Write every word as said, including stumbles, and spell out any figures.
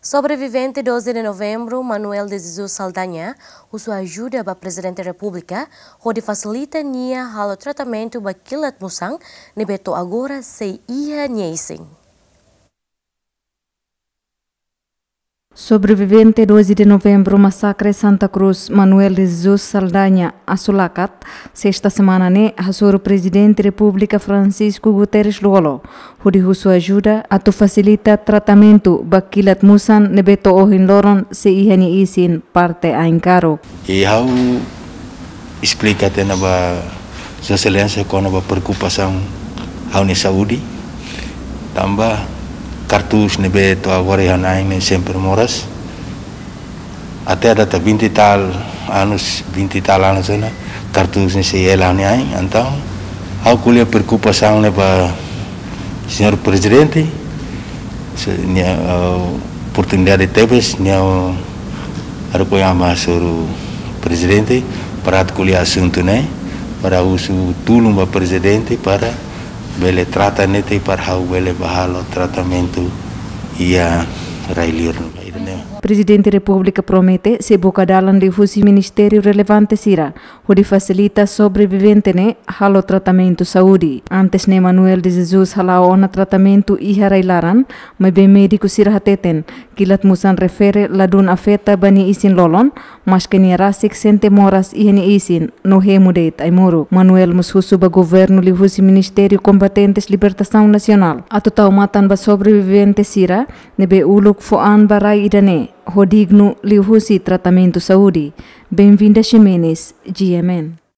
Sobrevivente doze de Novembru, Manuel de Jesus Saldanha, husu ajuda ba Prezidente Repúblika hodi fasilita nia halo tratamentu ba kilat musan ne'ebé to'o agora sei iha nia isin. Sobrevivente doze de Novembru masakre Santa Cruz, Manuel de Jesus Saldanha Asulakat, sesta semana ne'e hasoru Prezidente Repúblika Francisco Guterres Lú-Olo hodi husu ajuda atu fasilita tratamentu ba kilat musan ne'ebé to'o ohin loron sei iha nia isin parte Ain Karuk. I ha'u esplika tiha ona ba Sua Exelénsia kona-ba preokupasaun ha'u-nia saúde. Tanba kartús ne'ebé to'o agora iha ha'u-nia ain ne'e sempre moras. Até data vinte e tal anos, vinte e tal anos ona, kartús ne'e sei hela ha'u-nia ain. Entaun, ha'u ko'alia preokupasaun ne'e ba Señór Prezidente, se nia, ah, oportunidade tebes, nia, ah, haruka ha'u mai hasoru Prezidente, para atu ko'alia asuntu ne'e, para husu tulun ba Prezidente, para bele trata netik, para ha'u bele bá halo tratamentu iha rai-liur ne'ebá. Prezidente Repúblika promete sei buka dalan liuhusi ministériu relevante sira hodi fasilita sobrevivente ne'e halo tratamentu saúde. Antes ne'e Manuel de Jesus hala'o ona tratamentu iha rai-laran, maibé médiku sira hateten, kilat musan refere ladún afeta ba nia isin-lolon, maske nia rasik sente moras iha nia isin, no hemu de'it ai-moruk. Manuel mós husu ba governu liuhusi ministériu kompetentes libertasaun nasionál atu tau matan ba sobrevivente sira ne'ebé uluk fó an ba rai ida-ne'e, ho dignu liuhusi tratamentu saúde. Benvinda Ximenes, G M N.